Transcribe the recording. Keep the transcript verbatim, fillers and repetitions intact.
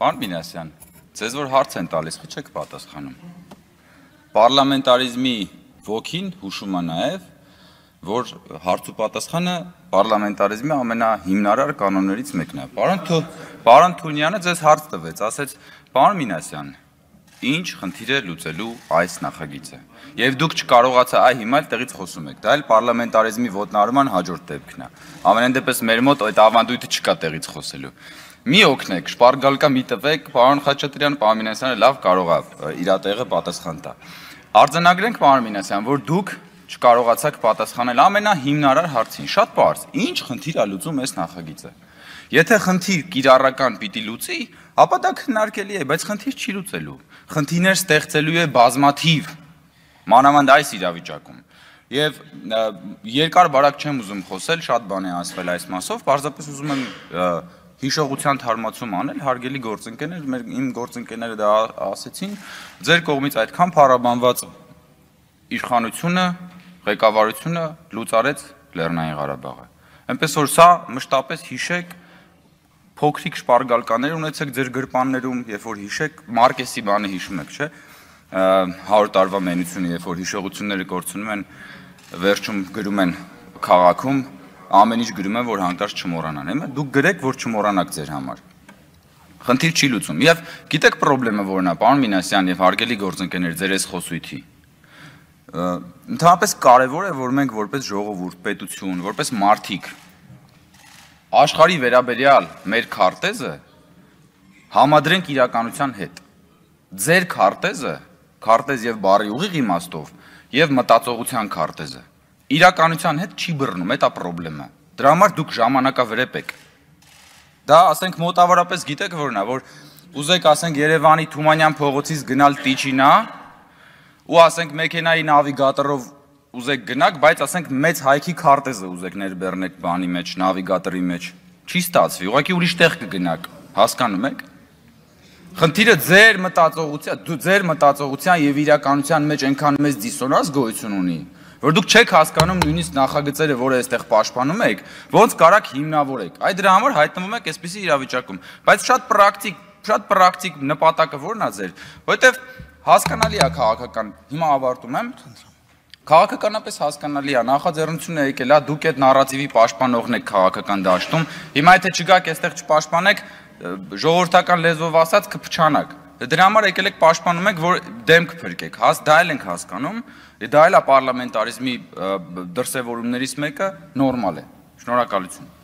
Պարոն Մինասյան, ձեզ որ հարց են տալիս, խի չեք պատասխանում։ Պարլամենտարիզմի ոգին հուշում է նաև, որ հարց ու պատասխանը պարլամենտարիզմի ամենահիմնարար կանոններից մեկն է։ Պարոն Թունյանը ձեզ հարց տվեց, ասեց, պարոն Մինասյան, ինչ խնդիր է լուծելու այս նախագիծը։ Եվ դուք չկարողացա այ հիմա էլ տեղից խոսում եք, դա էլ պարլամենտարիզմի ոտնահարման հաջորդ դեպքն է։ Ամենայն դեպս մեր մոտ այդ ավանդույթը չկա տեղից խոսելու։ Մի օգնեք, շպարգալկա մի տվեք, պարոն Խաչատրյան, պարոն Մինասյանը լավ կարող է իր տեղը պատասխան տա։ Արձանագրենք, պարոն Մինասյան, որ դուք չկարողացաք պատասխանել ամենահիմնարար հարցին, շատ պարզ, ինչ խնդիր է լուծում այս նախագիծը։ Եթե խնդիր կիրառական պիտի լուծի, ապա դա քննարկելի է, բայց խնդիր չի լուծելու։ Խնդիրներ ստեղծելու է բազմաթիվ, մանավանդ այս իրավիճակում։ Եւ երկար բարակ չեմ ուզում խոսել, շատ բան է ասվել այս մասով, պարզապես ուզում եմ հիշողության թարմացում անել, հարգելի գործընկերներ, մեր իմ գործընկերները դա ասեցին, ձեր կողմից այդքան փառաբանված իշխանությունը, ղեկավարությունը լուծարեց Լեռնային Ղարաբաղը։ Այնպես որ սա մշտապես հիշեք, փոքրիկ շպարգալկաներ ունեցեք ձեր գրպաններում, երբ որ հիշեք, Մարկեսի բանը հիշում եք, չէ՞, հարյուր տարվա մենությունը, երբ որ հիշողությունները կորցնում են, վերջում գրում են քաղաքում, ամեն ինչ գրում են, որ հանկարծ չմոռանան, հիմա դուք գրեք, որ չմոռանաք ձեր համար։ Խնդիր չի լուծում։ Եվ գիտեք խնդրեմը որն է, պարոն Մինասյան եւ հարգելի գործընկերներ, ձեր այս խոսույթի։ Ընդհանրապես կարևոր է, որ մենք որպես ժողովուրդ, պետություն, որպես մարդիկ աշխարհի վերաբերյալ մեր քարտեզը համադրենք իրականության հետ։ Ձեր քարտեզը, քարտեզ եւ բառի ուղիղ իմաստով եւ մտածողության քարտեզը իրականության հետ չի բռնում, դա խնդրեմը։ Դրա համար դուք ժամանակավրեպ եք։ Դա ասենք մոտավորապես գիտեք որն է, որ ուզեք ասենք Երևանի Թումանյան փողոցից գնալ Տիչինա ու ասենք մեքենայի նավիգատորով ուզեք գնաք, բայց ասենք մեծ հայքի քարտեզը ուզեք ներբեռնեք բանի մեջ, նավիգատորի մեջ, չի ստացվի, ուղղակի ուրիշ տեղ կգնաք, հասկանում եք։ Խնդիրը ձեր մտածողության, ձեր մտածողության եւ իրականության մեջ այնքան մեծ դիսոնանս գոյություն ունի, որ դուք չեք հասկանում նույնիսկ նախագծերը, որը այստեղ պաշտպանում եք, ոնց կարաք հիմնավորեք։ Այդ դրա համար հայտնվում եք այսպիսի իրավիճակում, բայց շատ պրակտիկ, շատ պրակտիկ նպատակը որն է ձեր, որովհետեւ հասկանալի է քաղաքական, հիմա ավարտում եմ, քաղաքականապես հասկանալի է, նախաձեռնությունը եկել է, դուք այդ նարատիվի պաշտպանողն եք քաղաքական դաշտում, հիմա եթե չգաք այստեղ չպաշտպանեք, ժողովրդական լեզվով ասած կփչանաք։ Դրա համար եկել եք պաշտպանում եք, որ դեմք փրկեք, դա էլ ենք հասկանում, դա էլ է պարլամենտարիզմի դրսևորումներից մեկը, նորմալ է։ Շնորհակալություն։